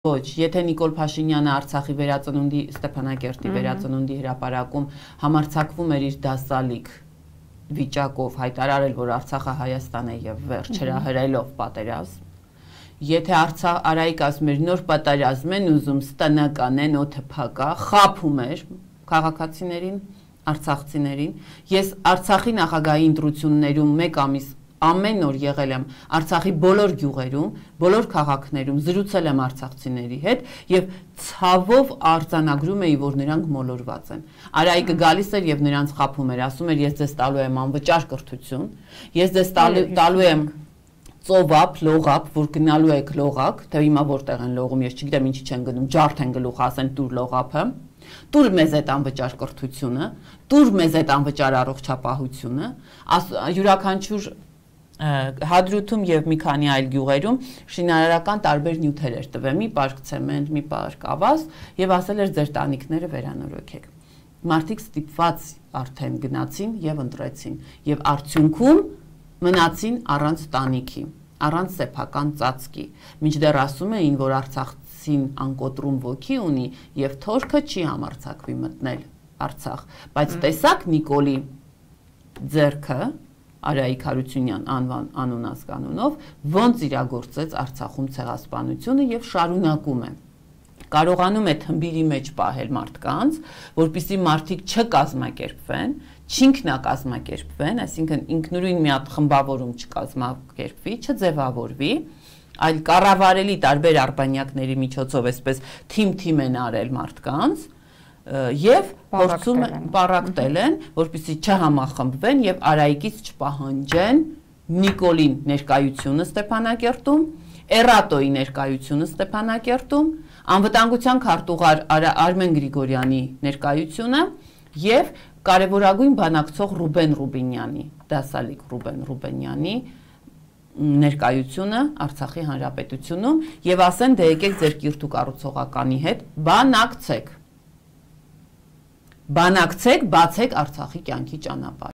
Ոչ, եթե Նիկոլ Փաշինյանը Արցախի վերածնունդի Ստեփանակերտի վերածնունդի հրապարակում համարձակվում էր իր դասալիկ վիճակով հայտարարել, որ Արցախը Հայաստան է եւ վերջ հրահրելով պատերազմ, եթե Արայիկ ասում էր նոր պատերազմ են ուզում, ստանական են, օդը փակա, խաբում էր քաղաքացիներին, արցախցիներին, ես Արցախի նախագահի ընտրություններում մեկ ամիս ամեն օր եղել եմ Արցախի բոլոր գյուղերում, բոլոր քաղաքներում, զրուցել եմ արցախցիների հետ եւ ցավով արձանագրում էի, որ նրանք մոլորված են։ Արայիկը գալիս էր եւ նրանց խաբում էր, ասում էր ես ձեզ տալու եմ անվճար կրթություն, ես ձեզ տալու եմ ծովափ, լողափ, որ գնալու եք լողակ, թե հիմա որտեղ են լողում, ես չգիտեմ ինչի չեն գնում, ջարդ են գլուխ ասեն տուր լողափը, տուր մեզ այդ անվճար կրթությունը, տուր մեզ այդ անվճար առողջապահությունը, յուրաքանչյուր Հադրութում եւ մի քանի այլ գյուղերում շինարարական տարբեր նյութեր էր տվել, մի պարկ ցեմենտ, մի պարկ ավազ եւ ասել էր ձեր տանիքները վերանորոգեք։ Մարդիկ ստիպված արդեն գնացին եւ ընտրեցին եւ արդյունքում մնացին առանց տանիքի, առանց սեփական ծածկի։ Մինչդեռ ասում էին, որ Արցախցին անկոտրում ոգի ունի եւ թորքը չի համարձակվի մտնել Արցախ, բայց տեսակ Նիկոլի ձեռքը Արայիկ Հարությունյան անունած կանոնով ոնց իրագործեց Արցախում ցեղասպանությունը եւ շարունակում է։ Կարողանում է թմբիրի մեջ պահել մարդկանց, որպեսզի մարդիկ չկազմակերպվեն, չինքնակազմակերպվեն, այսինքն ինքնուրույն մի հատ խմբավորում չկազմակերպվի, չձևավորվի, այլ կառավարելի տարբեր արբանյակների միջոցով այսպես թիմ են արել մարդկանց եւ փորձում պարակտել են, որպեսզի չհամախմբվեն եւ Արայիկից չպահանջեն Նիկոլին ներկայությունը Ստեփանակերտում, Էրատոյի ներկայությունը Ստեփանակերտում, անվտանգության քարտուղար Արմեն Գրիգորյանի ներկայությունը եւ կարևորագույն բանակցող Ռուբեն Ռուբինյանի, դասալիկ Ռուբեն Ռուբինյանի ներկայությունը Արցախի Հանրապետությունում եւ ասեն դե եկեք ձեր կիրթու կառուցողականի հետ բանակցեք, բացեք Արցախի կյանքի ճանապարհը։